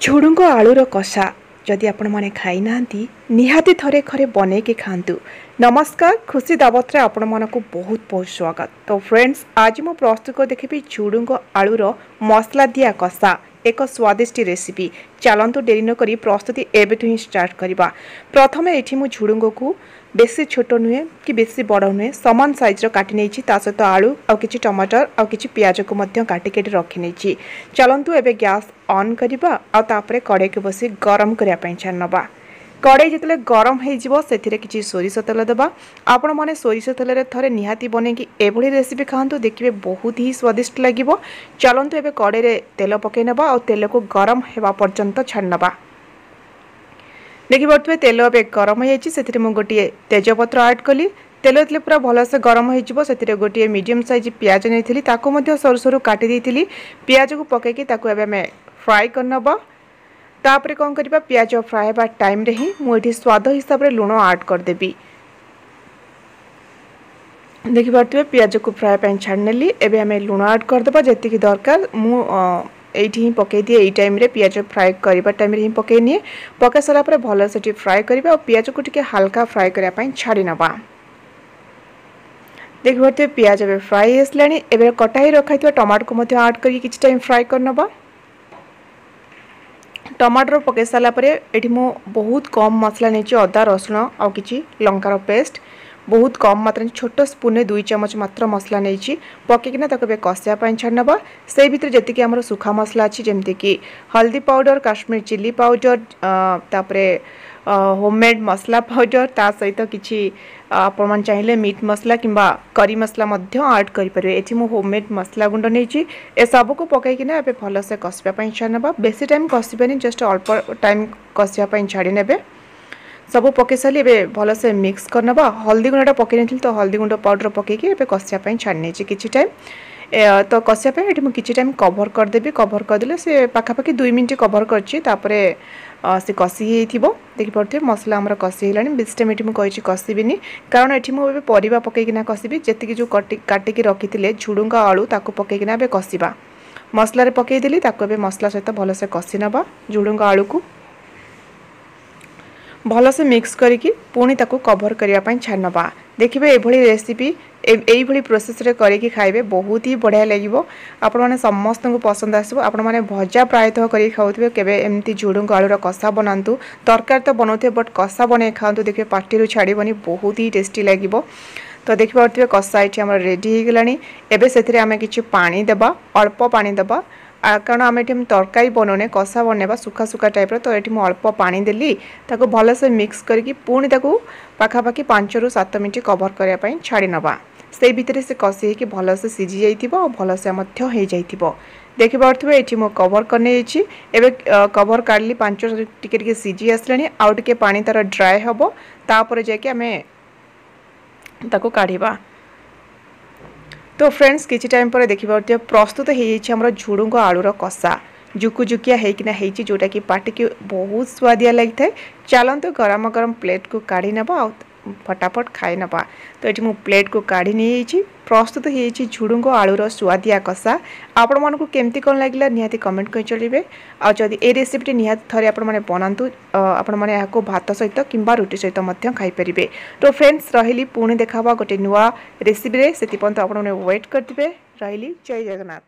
ଝୁଡ଼ୁଙ୍ଗ ଆଳୁର କଷା ଯଦି ଆପଣମାନେ ଖାଇନାହାନ୍ତି, ନିହାତି ଥରେ ଘରେ ବନେଇକି ଖାଆନ୍ତୁ। ନମସ୍କାର, ଖୁସି ଦାବତରେ ଆପଣମାନଙ୍କୁ ବହୁତ ବହୁତ ସ୍ୱାଗତ। ତ ଫ୍ରେଣ୍ଡସ୍, ଆଜି ମୁଁ ପ୍ରସ୍ତୁତ କରି ଦେଖିବି ଝୁଡ଼ୁଙ୍ଗ ଆଳୁର ମସଲା ଦିଆ କଷା, ଏକ ସ୍ୱାଦିଷ୍ଟ ରେସିପି। ଚାଲନ୍ତୁ, ଡେରି ନକରି ପ୍ରସ୍ତୁତି ଏବେଠୁ ହିଁ ଷ୍ଟାର୍ଟ କରିବା। ପ୍ରଥମେ ଏଠି ମୁଁ ଝୁଡ଼ୁଙ୍ଗକୁ ବେଶୀ ଛୋଟ ନୁହେଁ କି ବେଶୀ ବଡ଼ ନୁହେଁ, ସମାନ ସାଇଜ୍ର କାଟି ନେଇଛି। ତା ସହିତ ଆଳୁ ଆଉ କିଛି ଟମାଟର ଆଉ କିଛି ପିଆଜକୁ ମଧ୍ୟ କାଟିକି ଏଠି ରଖିନେଇଛି। ଚାଲନ୍ତୁ, ଏବେ ଗ୍ୟାସ୍ ଅନ୍ କରିବା ଆଉ ତାପରେ କଡ଼େଇକୁ ବସି ଗରମ କରିବା ପାଇଁ ଛାଡ଼ି ନେବା। କଡ଼େଇ ଯେତେବେଳେ ଗରମ ହେଇଯିବ, ସେଥିରେ କିଛି ସୋରିଷ ତେଲ ଦେବା। ଆପଣମାନେ ସୋରିଷ ତେଲରେ ଥରେ ନିହାତି ବନେଇକି ଏଭଳି ରେସିପି ଖାଆନ୍ତୁ, ଦେଖିବେ ବହୁତ ହି ସ୍ୱାଦିଷ୍ଟ ଲାଗିବ। ଚାଲନ୍ତୁ, ଏବେ କଡ଼େଇରେ ତେଲ ପକାଇ ନେବା ଆଉ ତେଲକୁ ଗରମ ହେବା ପର୍ଯ୍ୟନ୍ତ ଛାଡ଼ି ନେବା। ଦେଖିପାରୁଥିବେ, ତେଲ ଏବେ ଗରମ ହୋଇଯାଇଛି। ସେଥିରେ ମୁଁ ଗୋଟିଏ ତେଜପତ୍ର ଆଡ଼୍ କଲି। ତେଲ ଯେତେବେଳେ ପୁରା ଭଲସେ ଗରମ ହୋଇଯିବ, ସେଥିରେ ଗୋଟିଏ ମିଡ଼ିୟମ୍ ସାଇଜ୍ ପିଆଜ ନେଇଥିଲି, ତାକୁ ମଧ୍ୟ ସରୁ ସରୁ କାଟି ଦେଇଥିଲି। ପିଆଜକୁ ପକାଇକି ତାକୁ ଏବେ ଆମେ ଫ୍ରାଏ କରିନେବା। ତାପରେ କ'ଣ କରିବା? ପିଆଜ ଫ୍ରାଏ ହେବା ଟାଇମ୍ରେ ହିଁ ମୁଁ ଏଠି ସ୍ୱାଦ ହିସାବରେ ଲୁଣ ଆଡ଼୍ କରିଦେବି। ଦେଖିପାରୁଥିବେ, ପିଆଜକୁ ଫ୍ରାଏ ପାଇଁ ଛାଡ଼ିନେଲି। ଏବେ ଆମେ ଲୁଣ ଆଡ଼୍ କରିଦେବା ଯେତିକି ଦରକାର। ମୁଁ ଏଇଠି ହିଁ ପକାଇ ଦିଏ, ଏଇ ଟାଇମ୍ରେ, ପିଆଜ ଫ୍ରାଏ କରିବା ଟାଇମ୍ରେ ହିଁ ପକାଇ ନିଏ। ପକାଇ ସାରିଲା ପରେ ଭଲ ସେଠି ଫ୍ରାଏ କରିବା ଆଉ ପିଆଜକୁ ଟିକେ ହାଲକା ଫ୍ରାଏ କରିବା ପାଇଁ ଛାଡ଼ି ନେବା। ଦେଖିପାରୁଥିବେ, ପିଆଜ ଏବେ ଫ୍ରାଏ ଆସିଲାଣି। ଏବେ କଟା ହେଇ ରଖାହେଇଥିବା ଟମାଟୋକୁ ମଧ୍ୟ ଆଡ଼୍ କରିକି କିଛି ଟାଇମ୍ ଫ୍ରାଏ କରିନେବା। ଟମାଟର ପକାଇ ସାରିଲା ପରେ ଏଠି ମୁଁ ବହୁତ କମ୍ ମସଲା ନେଇଛି, ଅଦା, ରସୁଣ ଆଉ କିଛି ଲଙ୍କାର ପେଷ୍ଟ ବହୁତ କମ୍ ମାତ୍ରାରେ, ଛୋଟ ସ୍ପୁନରେ 2 ଚାମଚ ମାତ୍ର ମସଲା ନେଇଛି। ପକାଇକିନା ତାକୁ ଏବେ କଷିବା ପାଇଁ ଛାଡ଼ି ନେବା। ସେଇ ଭିତରେ ଯେତିକି ଆମର ଶୁଖା ମସଲା ଅଛି, ଯେମିତିକି ହଳଦୀ ପାଉଡ଼ର, କାଶ୍ମୀର ଚିଲି ପାଉଡ଼ର, ତାପରେ ହୋମମେଡ୍ ମସଲା ପାଉଡ଼ର, ତା ସହିତ କିଛି ଆପଣମାନେ ଚାହିଁଲେ ମିଟ୍ ମସଲା କିମ୍ବା କରି ମସଲା ମଧ୍ୟ ଆଡ଼୍ କରିପାରିବେ। ଏଠି ମୁଁ ହୋମମେଡ୍ ମସଲା ଗୁଣ୍ଡ ନେଇଛି। ଏସବୁକୁ ପକାଇକିନା ଏବେ ଭଲସେ କଷିବା ପାଇଁ ଛାଡ଼ି ନେବା। ବେଶୀ ଟାଇମ୍ କଷିବେନି, ଜଷ୍ଟ ଅଳ୍ପ ଟାଇମ୍ କଷିବା ପାଇଁ ଛାଡ଼ି ନେବେ। ସବୁ ପକାଇ ସାରିଲି, ଏବେ ଭଲସେ ମିକ୍ସ କରିନେବା। ହଳଦୀ ଗୁଣ୍ଡଟା ପକାଇ ନଥିଲି, ତ ହଳଦୀ ଗୁଣ୍ଡ ପାଉଡ଼ର ପକାଇକି ଏବେ କଷିବା ପାଇଁ ଛାଡ଼ି ନେଇଛି କିଛି ଟାଇମ୍। ତ କଷିବା ପାଇଁ ଏଠି ମୁଁ କିଛି ଟାଇମ୍ କଭର୍ କରିଦେବି। କଭର୍ କରିଦେଲେ ସେ ପାଖାପାଖି 2 ମିନିଟ୍ କଭର୍ କରିଛି, ତାପରେ ସେ କଷି ହେଇଥିବ। ଦେଖିପାରୁଥିବେ, ମସଲା ଆମର କଷି ହେଇଗଲାଣି। ବେଶୀ ଟାଇମ୍ ଏଠି ମୁଁ କହିଛି କଷିବିନି, କାରଣ ଏଠି ମୁଁ ଏବେ ପରିବା ପକାଇକିନା କଷିବି। ଯେତିକି ଯେଉଁ କାଟିକି ରଖିଥିଲେ ଝୁଡ଼ୁଙ୍ଗ ଆଳୁ, ତାକୁ ପକାଇକିନା ଏବେ କଷିବା। ମସଲାରେ ପକାଇଦେଲି, ତାକୁ ଏବେ ମସଲା ସହିତ ଭଲସେ କଷି ନେବା। ଝୁଡ଼ୁଙ୍ଗ ଆଳୁକୁ ଭଲସେ ମିକ୍ସ କରିକି ପୁଣି ତାକୁ କଭର୍ କରିବା ପାଇଁ ଛାଡ଼ି ନେବା। ଦେଖିବେ, ଏଭଳି ରେସିପି ଏଇଭଳି ପ୍ରୋସେସ୍ରେ କରିକି ଖାଇବେ, ବହୁତ ହି ବଢ଼ିଆ ଲାଗିବ। ଆପଣମାନେ ସମସ୍ତଙ୍କୁ ପସନ୍ଦ ଆସିବ। ଆପଣମାନେ ଭଜା ପ୍ରାୟତଃ କରିକି ଖାଉଥିବେ, କେବେ ଏମିତି ଝୁଡ଼ୁଙ୍ଗ ଆଳୁର କଷା ବନାନ୍ତୁ। ତରକାରୀ ତ ବନାଉଥିବେ, ବଟ୍ କଷା ବନେଇ ଖାଆନ୍ତୁ, ଦେଖିବେ ପାଟିରୁ ଛାଡ଼ିବନି, ବହୁତ ହି ଟେଷ୍ଟି ଲାଗିବ। ତ ଦେଖିପାରୁଥିବେ, କଷା ଏଠି ଆମର ରେଡ଼ି ହେଇଗଲାଣି। ଏବେ ସେଥିରେ ଆମେ କିଛି ପାଣି ଦେବା, ଅଳ୍ପ ପାଣି ଦେବା, କାରଣ ଆମେ ଏଠି ତରକାରୀ ବନଉନେ, କଷା ବନେଇବା ଶୁଖା ଶୁଖା ଟାଇପ୍ର। ତ ଏଠି ମୁଁ ଅଳ୍ପ ପାଣି ଦେଲି। ତାକୁ ଭଲସେ ମିକ୍ସ କରିକି ପୁଣି ତାକୁ ପାଖାପାଖି 5ରୁ 7 ମିନିଟ୍ କଭର୍ କରିବା ପାଇଁ ଛାଡ଼ି ନେବା। ସେଇ ଭିତରେ ସେ କଷି ହେଇକି ଭଲସେ ସିଝି ଯାଇଥିବ ଆଉ ଭଲସେ ମଧ୍ୟ ହେଇଯାଇଥିବ। ଦେଖିପାରୁଥିବେ, ଏଠି ମୁଁ କଭର୍ କରିନେଇଛି। ଏବେ କଭର୍ କାଢ଼ିଲି, 5 ଟିକେ ଟିକେ ସିଝି ଆସିଲାଣି। ଆଉ ଟିକେ ପାଣି ତା'ର ଡ୍ରାଏ ହେବ, ତାପରେ ଯାଇକି ଆମେ ତାକୁ କାଢ଼ିବା। ତ ଫ୍ରେଣ୍ଡସ୍, କିଛି ଟାଇମ୍ ପରେ ଦେଖିପାରୁଥିବେ, ପ୍ରସ୍ତୁତ ହେଇଯାଇଛି ଆମର ଝୁଡ଼ୁଙ୍ଗ ଆଳୁର କଷା। ଜୁକୁଜୁକିଆ ହେଇକିନା ହେଇଛି, ଯେଉଁଟାକି ପାଟିକି ବହୁତ ସୁଆଦିଆ ଲାଗିଥାଏ। ଚାଲନ୍ତୁ, ଗରମ ଗରମ ପ୍ଲେଟ୍କୁ କାଢ଼ି ନେବା ଆଉ ଫଟାଫଟ ଖାଇ ନେବା। ତ ଏଠି ମୁଁ ପ୍ଲେଟ୍କୁ କାଢ଼ି ନେଇଯାଇଛି। ପ୍ରସ୍ତୁତ ହେଇଯାଇଛି ଝୁଡ଼ୁଙ୍ଗ ଆଳୁର ସୁଆଦିଆ କଷା। ଆପଣମାନଙ୍କୁ କେମିତି କ'ଣ ଲାଗିଲା, ନିହାତି କମେଣ୍ଟ କରି ଜଣାଇବେ। ଆଉ ଯଦି ଏ ରେସିପିଟି ନିହାତି ଥରେ ଆପଣମାନେ ବନାନ୍ତୁ, ଆପଣମାନେ ଏହାକୁ ଭାତ ସହିତ କିମ୍ବା ରୁଟି ସହିତ ମଧ୍ୟ ଖାଇପାରିବେ। ତ ଫ୍ରେଣ୍ଡସ୍, ରହିଲି, ପୁଣି ଦେଖା ହେବ ଗୋଟେ ନୂଆ ରେସିପିରେ। ସେଥିପର୍ଯ୍ୟନ୍ତ ଆପଣମାନେ ୱେଟ୍ କରିଥିବେ। ରହିଲି, ଜୟ ଜଗନ୍ନାଥ।